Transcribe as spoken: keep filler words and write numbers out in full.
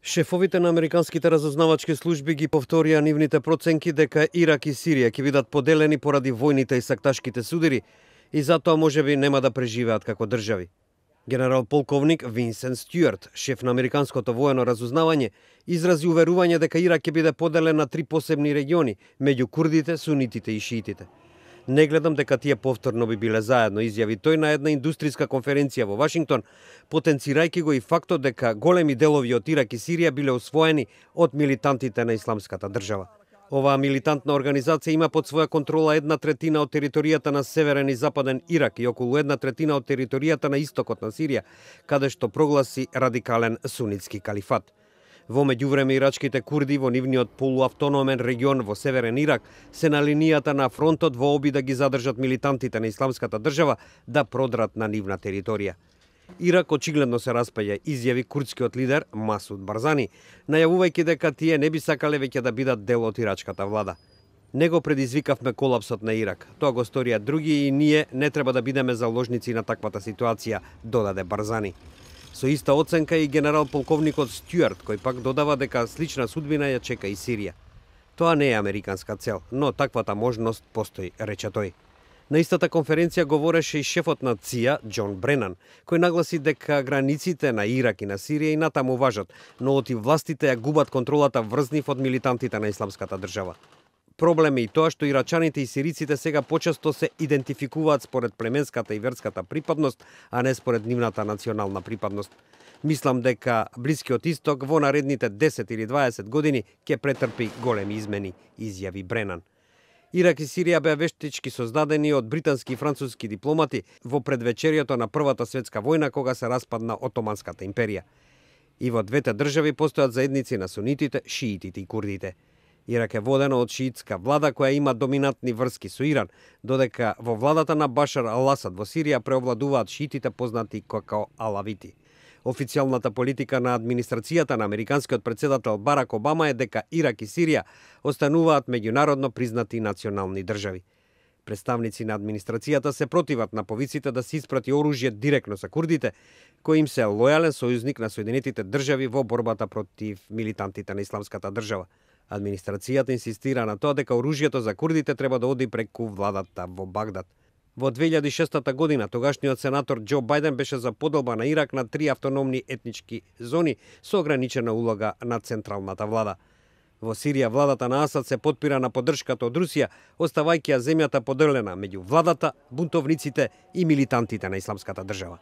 Шефовите на американските разузнавачки служби ги повторија нивните проценки дека Ирак и Сирија ќе бидат поделени поради војните и сакташките судири и затоа можеби нема да преживеат како држави. Генерал полковник Винсент Стюарт, шеф на американското воено разузнавање, изрази уверување дека Ирак ќе биде поделен на три посебни региони меѓу курдите, сунитите и шиитите. Не гледам дека тие повторно би биле заедно, изјави тој на една индустријска конференција во Вашингтон, потенцирајќи го и фактот дека големи делови од Ирак и Сирија биле освоени од милитантите на Исламската држава. Оваа милитантна организација има под своја контрола една третина од територијата на северен и западен Ирак и околу една третина од територијата на истокот на Сирија, каде што прогласи радикален сунитски калифат. Во меѓувреме ирачките курди во нивниот полуавтономен регион во северен Ирак се на линијата на фронтот во обид да ги задржат милитантите на Исламската држава да продрат на нивна територија. Ирак очигледно се распаѓа, изјави курдскиот лидер Масуд Барзани, најавувајќи дека тие не би сакале веќе да бидат дел од ирачката влада. Него предизвикавме колапсот на Ирак. Тоа го сторија други и ние не треба да бидеме заложници на таквата ситуација, додаде Барзани. Со иста оценка и генерал полковникот Стюарт, кој пак додава дека слична судбина ја чека и Сирија. Тоа не е американска цел, но таквата можност постои, рече тој. На истата конференција говореше и шефот на ЦИА, Џон Бренан, кој нагласи дека границите на Ирак и на Сирија и натаму важат, но оти властите ја губат контролата врз нив од милитантите на Исламската држава. Проблем е и тоа што ирачаните и сириците сега почесто се идентификуваат според племенската и верската припадност, а не според нивната национална припадност. Мислам дека Блискиот Исток во наредните десет или дваесет години ќе претрпи големи измени, изјави Бренан. Ирак и Сирија беа вештички создадени од британски и француски дипломати во предвечерието на Првата светска војна кога се распадна Отоманската империја. И во двете држави постојат заедници на сунитите, шиитите и курдите. Ирак е водено од шиитска влада која има доминантни врски со Иран, додека во владата на Башар ал-Асад во Сирија преовладуваат шиитите познати како алавити. Официјалната политика на администрацијата на американскиот претседател Барак Обама е дека Ирак и Сирија остануваат меѓународно признати национални држави. Представници на администрацијата се противат на повиците да се испрати оружје директно за курдите, кој им се лојален сојузник на Соединетите држави во борбата против милитантите на Исламската држава. Администрацијата инсистира на тоа дека оружјето за курдите треба да оди преку владата во Багдад. Во две илјади и шеста година тогашниот сенатор Џо Бајден беше за поделба на Ирак на три автономни етнички зони со ограничена улога на централната влада. Во Сирија владата на Асад се потпира на поддршката од Русија, оставајќи ја земјата поделена меѓу владата, бунтовниците и милитантите на Исламската држава.